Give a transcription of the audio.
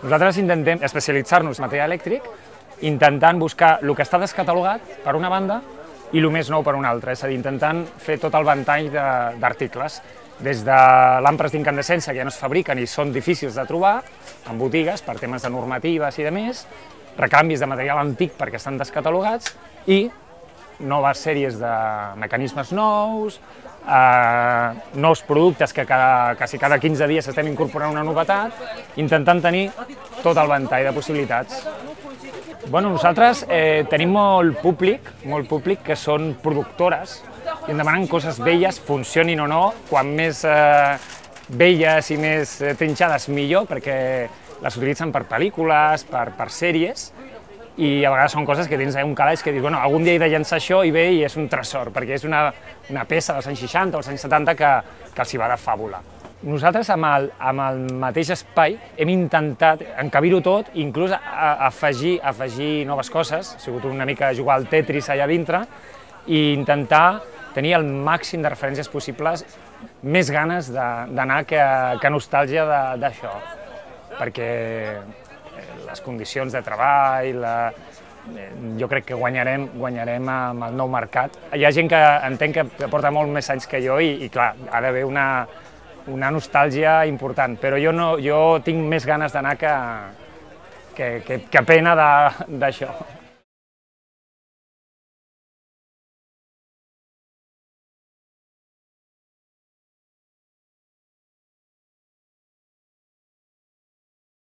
Nosaltres intentem especialitzar-nos en material elèctric, intentant buscar el que està descatalogat per una banda i el més nou per una altra, és a dir, intentant fer tot el ventall d'articles, des de làmpades d'incandescència que ja no es fabriquen i són difícils de trobar en botigues per temes de normatives i de més, recanvis de material antic perquè estan descatalogats i noves sèries de mecanismes nous, nous productes que quasi cada 15 dies estem incorporant una novetat, intentant tenir tot el ventall de possibilitats. Bueno, nosaltres tenim molt públic que són productores i em demanen coses velles, funcionin o no, quan més velles i més trinxades millor, perquè les utilitzen per pel·lícules, per sèries, i a vegades són coses que tens un calaix que dius, bueno, algun dia he de llançar això i ve i és un tresor, perquè és una peça dels anys 60 o els anys 70 que els hi va de fàbula. Nosaltres, amb el mateix espai, hem intentat encabir-ho tot, inclús afegir noves coses, ha sigut una mica jugar al Tetris allà dintre, i intentar tenir el màxim de referències possibles, més ganes d'anar que nostàlgia d'això, perquè les condicions de treball, jo crec que guanyarem amb el nou mercat. Hi ha gent que entenc que porta molt més anys que jo i clar, ha d'haver una nostàlgia important, però jo tinc més ganes d'anar que pena d'això.